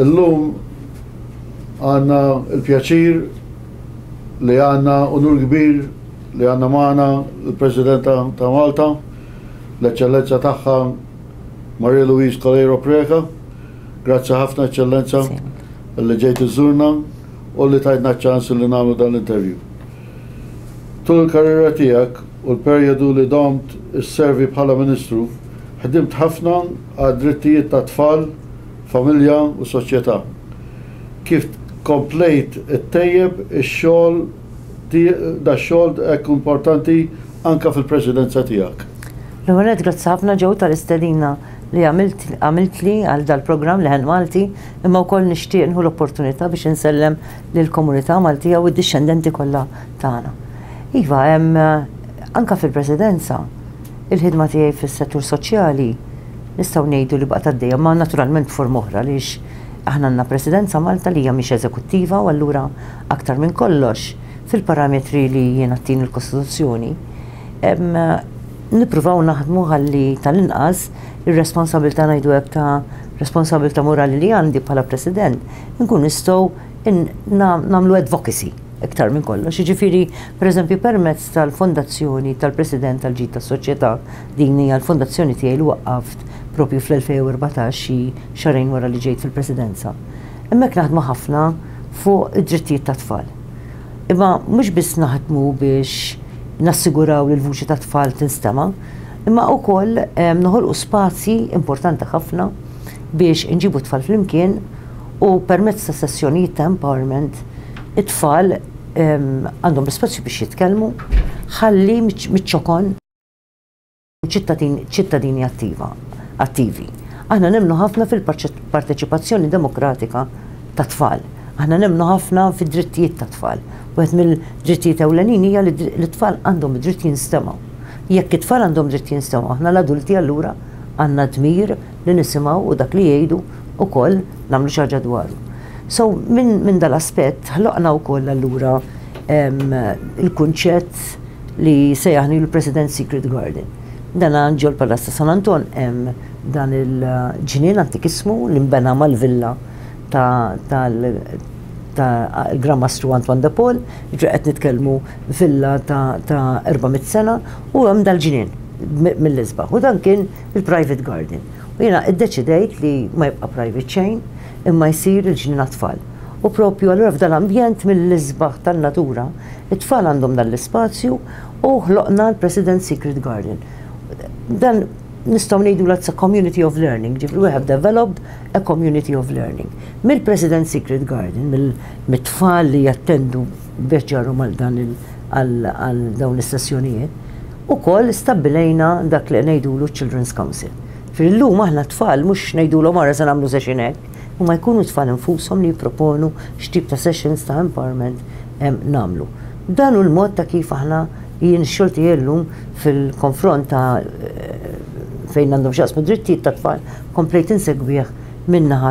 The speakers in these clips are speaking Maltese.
Illum għandna l-pjaċir li għandna unur kbir li għandna magħna l-Presidenta ta' Malta, l-Eċċellenza tagħha Maria Louise Coleiro Preca. Grazzi ħafna Eċċellenza li ġejt iżżurna u li tajtna ċ-ċans li nagħmlu dan l-interview. Tul il-karriera tiegħek u l-perjodu li domt isservi bħala Ministru, ħdimt ħafna għad-drittijiet tat-tfal, familja u soċjetà. Kif komplejt ittejjeb ix-xogħol dax-xogħol hekk importanti anke fil-Presidenza tiegħek? L-ewwel nett grazzi ħafna Joe tal-istedina li għamilt għamiltli għal dal-programm Leħen Malti, imma wkoll nixtieq nieħu l-opportunità biex insellem lill-komunità Maltija u d-dixxendenti kollha tagħna. Iva, hemm anke fil-Presidenza, il-ħidma tiegħi fis-settur soċjali nistgħu ngħidu li baqgħet għaddejja, ma naturalment b'forma oħra għaliex aħna għandna Presidenza Malta li hija mhix eżekuttiva u allura aktar minn kollox fil-parametri li jiena ttini l-Kostituzzjoni nippruvaw naħdmu ħalli tal-inqas ir-responsabilità ngħidu hekk ta' responsabilità morali li għandi bħala President inkun nistgħu nagħmlu advocacy iktar minn kollox. Jiġifieri, pereżempju, permezz tal-Fondazzjoni tal-President tal-Ġid tas-Soċjetà, din hija l-fondazzjoni tiegħi li waqqaft propju fl-2014 xi xahrejn wara li ġejt fil-Presidenza. Hemmhekk naħdmu ħafna fuq id-drittijiet tat-tfal. Imma mhux biss naħdmu biex nassiguraw li l-vuċi tat-tfal tinstema', imma wkoll noħolqu spazji importanti ħafna biex inġibu t-tfal flimkien u permezz ta' sessjonijiet ta' empowerment it-tfal għandhom l-ispazju biex jitkellmu ħalli miċ-ċokon ċittadini attiva, attivi. Aħna nemmnu ħafna fil-parteċipazzjoni demokratika tat-tfal. Aħna nemmnu ħafna fid-drittijiet tat-tfal. Wieħed mill-drittijiet ewlenin hija li t-tfal għandhom id-dritt jinstemgħu. Jekk it-tfal għandhom dritt jinstemgħu, aħna l-adulti allura għandna dmir li nisimgħu u dak li jgħidu ukoll nagħmlu xi ħaġa dwaru. So minn min dal-aspett ħloqna wkoll allura il-kunċett li sejjaħni l-President Secret Garden. Dan ġol Palazz ta' San Anton hemm dan il-ġnien antikismu li nbena mal-villa tal-Gran Mastru Antoine de Paul, ġifieri qed nitkellmu villa ta' 400 sena u hemm dal-ġnien mill-isbaħ. U dan kien il-private garden. U jiena iddeċidejt li ma jibqa' private xejn, imma jsir il-ġnien għat-tfal. U propju allura f'dal-ambjent mill-isbaħ tan-natura, it-tfal għandhom dan l-ispazju u ħloqna l-President's Secret Garden. Dan nistgħu ngħidu it's a community of learning, ġifieri we have developed a community of learning. Mill-President's Secret Garden, mit-tfal li jattendu biex ġarru mal dan għal dawn is-sessjonijiet, ukoll stabbilejna dak li ngħidulu Children's Council. Fil-lum aħna tfal mhux ngħidulhom ara se nagħmlu session hekk, huma jkunu tfal infushom li jipproponu x'tip ta' sessions ta' empowerment nagħmlu. Dan hu l-mod ta' kif aħna jien x-xogħol tiegħi llum fil-konfront ta' fejn għandhom x'jaqsmu drittijiet tat-tfal komplejt insegwih min-naħa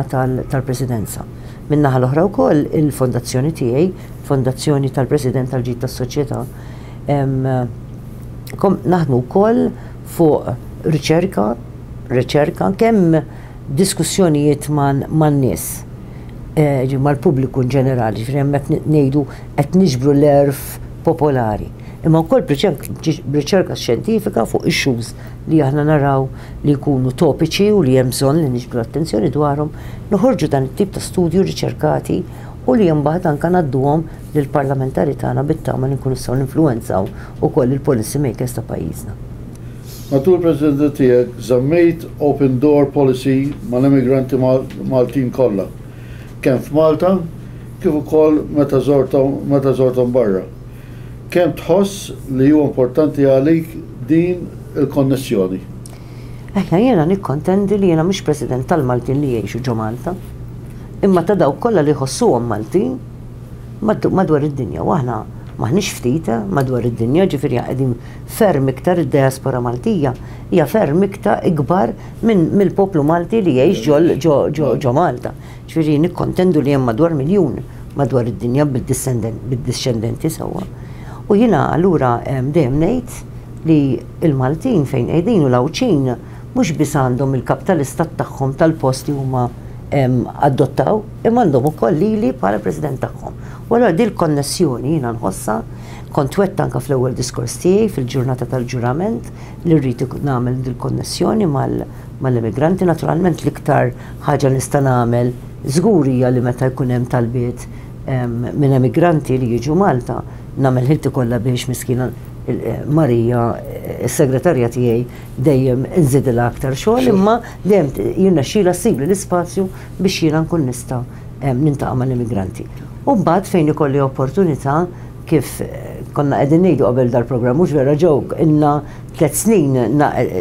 tal-Presidenza. Min-naħa l-oħra wkoll il-fondazzjoni tiegħi, Fondazzjoni tal-President tal-Ġid tas-Soċjetà, naħdmu wkoll fuq riċerka, riċerka kemm diskussjonijiet man-nies, mal-pubbliku in ġenerali, ġifieri hemmhekk ngħidu qed niġbru l-għerf popolari. Imma wkoll b'riċerka xjentifika fuq issues li aħna naraw li jkunu topiċi u li hemm bżonn li niġbdu l-attenzjoni dwarhom, noħorġu dan it-tip ta' studju riċerkati u li mbagħad anke ngħadduhom lill-parlamentari tagħna bit-tama li nkunu nistgħu ninfluwenzaw ukoll il-policy makers ta' pajjiżna. Matul il-Presidenza tiegħek żammejt open door policy mal-immigranti Maltin kollha, kemm f'Malta kif ukoll meta meta żorthom barra. Kemm tħoss li huwa importanti għalik din il-konnessjoni? Eħja, jiena nikkontendi li jiena mhux President tal-Maltin li jgħixu ġo Malta, imma ta' dawk kollha li jħossuhom Maltin madwar id-dinja. U aħna m'aħniex ftit madwar id-dinja, ġifieri qegħdin ferm iktar id-diaspora Maltija hija ferm iktar ikbar minn mill-poplu Malti li jgħix ġo Malta. Ġifieri nikkontendu li hemm madwar miljun madwar id-dinja bid-dixxendenti sewwa. U jiena allura dejjem ngħid li l-Maltin fejn qegħdin u l-Għawdxin mhux biss għandhom il-kap tal-istat tagħhom tal-post li huma adottaw, imma għandhom ukoll lili bħala President tagħhom. U allura dil konnessjoni jiena nħossha, kont wett anke fl-ewwel diskors tiegħi fil-ġurnata tal-ġurament li rrid nagħmel dil-konnessjoni mal-immigranti. Naturalment l-iktar ħaġa nista' nagħmel żgur hija li meta jkun hemm talbiet minn emigranti li jiġu Malta, nagħmel ħilti kollha biex miskina Marija, is-segretarja tiegħi, dejjem inżidilha aktar xogħol, imma dejjem jirnexxilha ssibli l-ispazju biex jiena nkun nista' nintaqa' mal-immigranti. U mbagħad fejn ikolli opportunità kif konna qegħdin ngħidu qabel dal-programm, mhux vera Joe, ilna tlett snin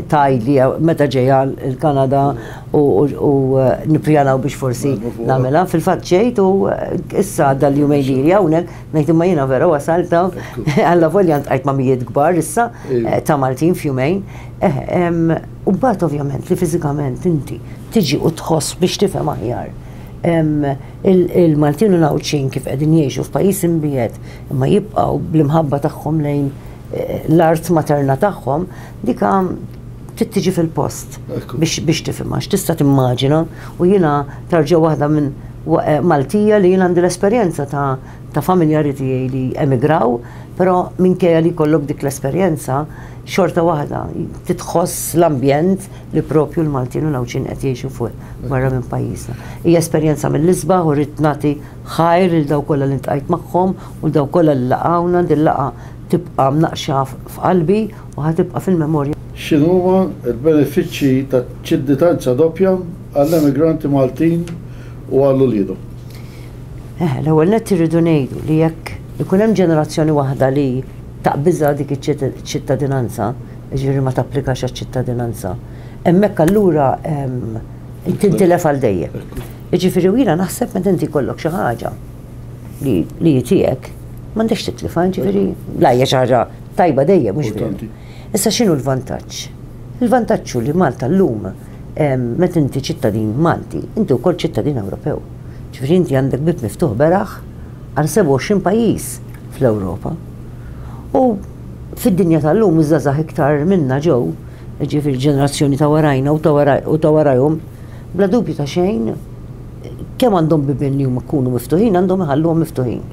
tgħidli meta ġejja l-Kanada u nippjanaw biex forsi nagħmilha. Fil-fatt ġejt u issa dal-jumejn li ili hawnhekk ngħid imma jiena vera wasalt hawn, allavolja ltqajt ma' mijiet kbar issa ta' Maltin f'jumejn. U mbagħad ovvjament li fiżikament inti tiġi u tħoss biex tifhem aħjar Il-Maltin u l-Għawdxin kif qegħdin jgħixu f'pajjiż imbiegħed imma jibqgħu bl-imħabba tagħhom lejn l-art materna tagħhom, dika trid tiġi fil-post biex tifhimha, għax tista' timmaġina u jiena tarġa' waħda minn Maltija li jiena għandi l-esperjenza ta' familjari tiegħi li emigraw, però minkejja li jkollok dik l-esperjenza, xorta waħda titħoss l-ambjent li propju l-Maltin u l-Għawdxin qed jgħixu fuq barra minn pajjiżna. Hija esperjenza mill-isbaħ u rrid nagħti ħajr lil dawk kollha li ltqajt magħhom u lil dawk kollha li laqgħuna, din laqgħa tibqa' mnaqqxa f'qalbi u ħa tibqa' fil-memorja. X'inhuma l-benefiċċji taċ-ċittdinanza doppja għall-emigranti Maltin u għal uliedhom? Eh, l-ewwel nett irridu ngħidu li jekk ikun hemm ġenerazzjoni waħda li taqbiżha dik iċ-ċittadinanza, jiġifieri ma tapplikax għaċ-ċittadinanza, hemmhekk allura tintilef għal dejjem. Jiġifieri u jiena naħseb meta inti jkollok xi ħaġa li li hi tiegħek, m'għandekx titlifha, jiġifieri la hija xi ħaġa tajba dejjem mhux veru. Issa x'inhu l-vantaġġ? Il-vantaġġ hu li Malta llum meta inti ċittadin Malti, inti wkoll ċittadin Ewropew. Ġifieri inti għandek bieb miftuħ beraħ għal 27 pajjiż fl-Ewropa. U fid-dinja tal-lum iż-żgħażagħ iktar minna ġew, jiġifieri ġenerazzjoni ta' warajna u ta' warajhom, bla dubju ta' xejn, kemm għandhom bibien li huma jkunu miftuħin għandhom iħalluhom miftuħin.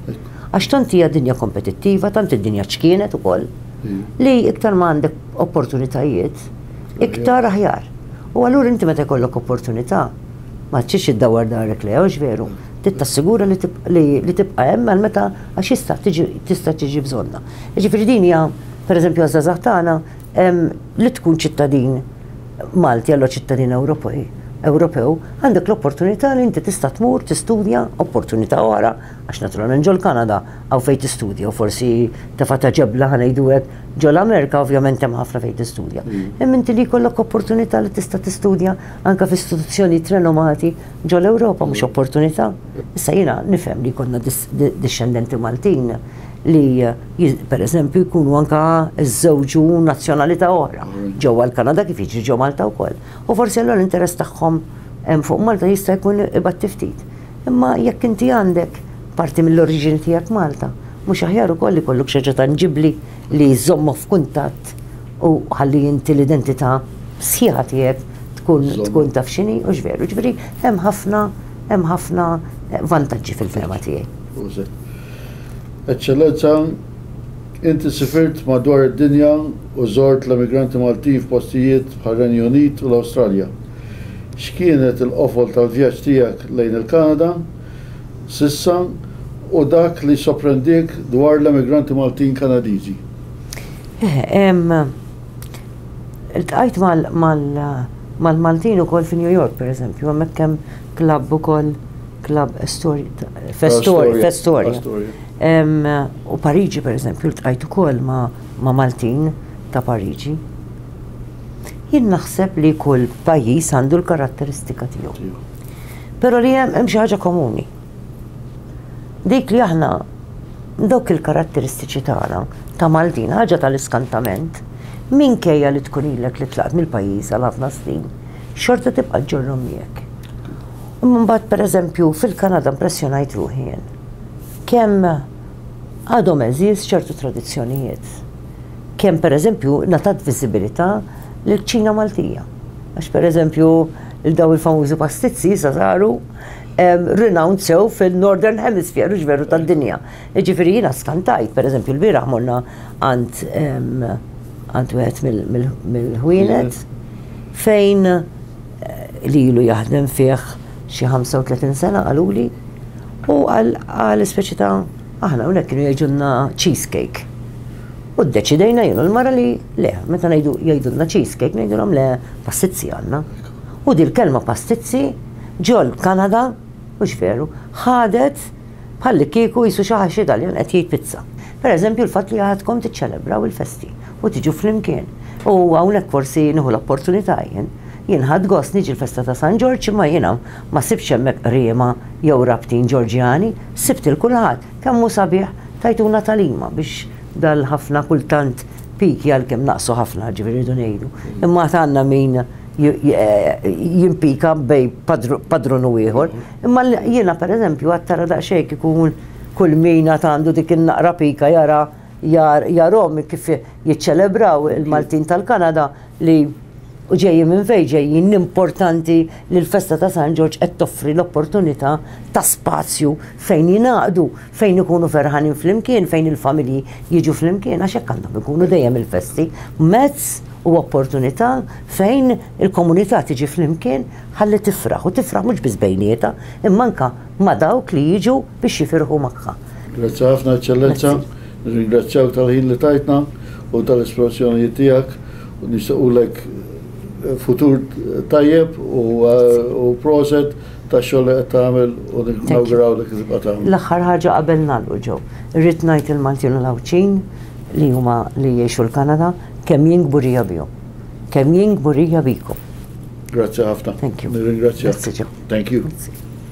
Għax tant hija dinja kompetittiva, tant id-dinja ċkienet ukoll, li iktar ma għandek opportunitajiet, iktar aħjar. U allura inti meta jkollok opportunità, ma tridx iddawwar darek lejha, hux veru? Trid tassigura li tibqa' hemm għal meta għax jista' tiġi tista' tiġi bżonnha. Jiġifieri din hija, pereżempju għaż-żgħażagħ tagħna, li tkun ċittadin Malti allura ċittadin Ewropej, Ewropew, għandek l-opportunità li inti tista' tmur tistudja, opportunità oħra, għax naturalment ġol-Kanada hawn fejn tistudja u forsi tefa' ta' ġebla ħa ngħidu hekk, ġol-Amerika ovvjament hemm ħafna fejn tistudja. Imma inti li jkollok opportunità li tista' tistudja anke f'istituzzjonijiet renomati ġol-Ewropa mhux opportunità. Issa jiena nifhem li jkollna dixxendenti Maltin li per eżempju jkunu anka żżewġu nazzjonalità oħra ġewwa l-Kanada kif jiġri ġo Malta wkoll. U forsi allura l-interess tagħhom fuq Malta jista' jkun ibatti ftit. Imma jekk inti għandek parti mill-oriġini tiegħek Malta, mhux aħjar ukoll li jkollok xi ħaġa tanġibbli li żżommok f'kuntatt u ħalli inti l-identità sħiħa tiegħek tkun tkun taf x'inhi u x'veru. Ġifieri hemm ħafna hemm ħafna vantaġġi fil-fehma tiegħi. Eċċellenza, inti sifirt madwar id-dinja u żort l-emigranti Maltin f'postijiet bħar-Renju Unit u l-Awstralja. X'kienet il-qofol tal-vjaġġ tiegħek lejn il-Kanada s'issa u dak li soprendiek dwar l-emigranti Maltin Kanadiżi? Iltqajt mal-Maltin ukoll fi New York, per eżempju, hemmhekk hemm klabb ukoll, klabb Festoria. U Pariġi, per eżempju, ltqajt ukoll ma' Maltin ta' Pariġi. Jien naħseb li kull pajjiż għandu l-karatteristika tiegħu. Però li hemm xi ħaġa komuni. Dik li aħna dawk il-karatteristiċi tagħna ta' Maltin, ħaġa tal-iskantament, minkejja li tkun ilek li tlaqt mill-pajjiż għal ħafna snin, xorta tibqa' ġġorrhom miegħek. Imma mbagħad pereżempju fil-Kanada impressjonajt ruħi jien. Kemm għadhom għeżież ċertu tradizzjonijiet. Kemm pereżempju ngħatat viżibilità lill-kċina Maltija. Għax pereżempju il daw il-famużi pastizzi issa saru renowned sew fil-Northern Hemisphere, hux veru tad-dinja. Jiġifieri jiena skantajt, pereżempju l-bieraħ morna għand għand wieħed mill-ħwienet fejn eh, li ilu jaħdem fih xi 35 sena qaluli u għal speċi ta' aħna hawnhekk kienu jgħidulna cheesecake. U ddeċidejna jien u l-mara li le, meta ngħidu jgħidulna cheesecake ngħidulhom le pastizzi għandna. U dil-kelma pastizzi ġol Kanada, mhux veru, ħadet bħallikieku qisu xi ħadd xi Taljan qed jgħid pizza. Per eżempju l-fatt li għadkom tiċċelebraw il-festi u tiġu flimkien. U hawnhekk forsi nieħu l-opportunità jien. Jien ħadt gost niġi l-festa ta' San Ġorġ imma jiena ma sibtx hemmhekk qriema jew rabtin Ġorġjani, sibt 'il kulħadd. Kemm hu sabiħ tajtuna tagħlima biex dal-ħafna kultant piki għalkemm naqsu ħafna ġifieri rridu ngħidu. Imma għad għandna min jimpika bej padrun u ieħor. Imma jiena pereżempju għad tara daqsxejn kieku kull min għad għandu dik in-naqra pika jara jarhom kif jiċċelebraw il-Maltin tal-Kanada li u ġejjin minn fejn ġejjin importanti li l-festa ta' San Ġorġ qed toffri l-opportunità ta' spazju fejn jingħaqdu, fejn ikunu ferħanin flimkien, fejn il-familji jiġu flimkien, għax hekk għandhom ikunu dejjem il-festi, mezz u opportunità fejn il-komunità tiġi flimkien ħalli tifraħ, u tifraħ mhux biss bejnietha, imma anke ma' dawk li jiġu biex jifirħu magħha. Grazzi ħafna Eċċellenza, nirringrazzjawk tal-ħin li tajtna u tal-esplanazzjonijiet tiegħek u nixtiequlek futur tajjeb u proset tax-xogħol li qed tagħmel u nawgurawlek li tibqa' tagħmel. L-aħħar ħaġa qabel nagħlqu Joe, irrid ngħid il-Maltin u l-Għawdxin li huma li jgħixu l-Kanada kemm jien kburija bihom. Kemm jien kburija bikom. Grazzi ħafna. Thank you. Nirringrazzjak. Grazzi Joe. Thank you. Grazzi.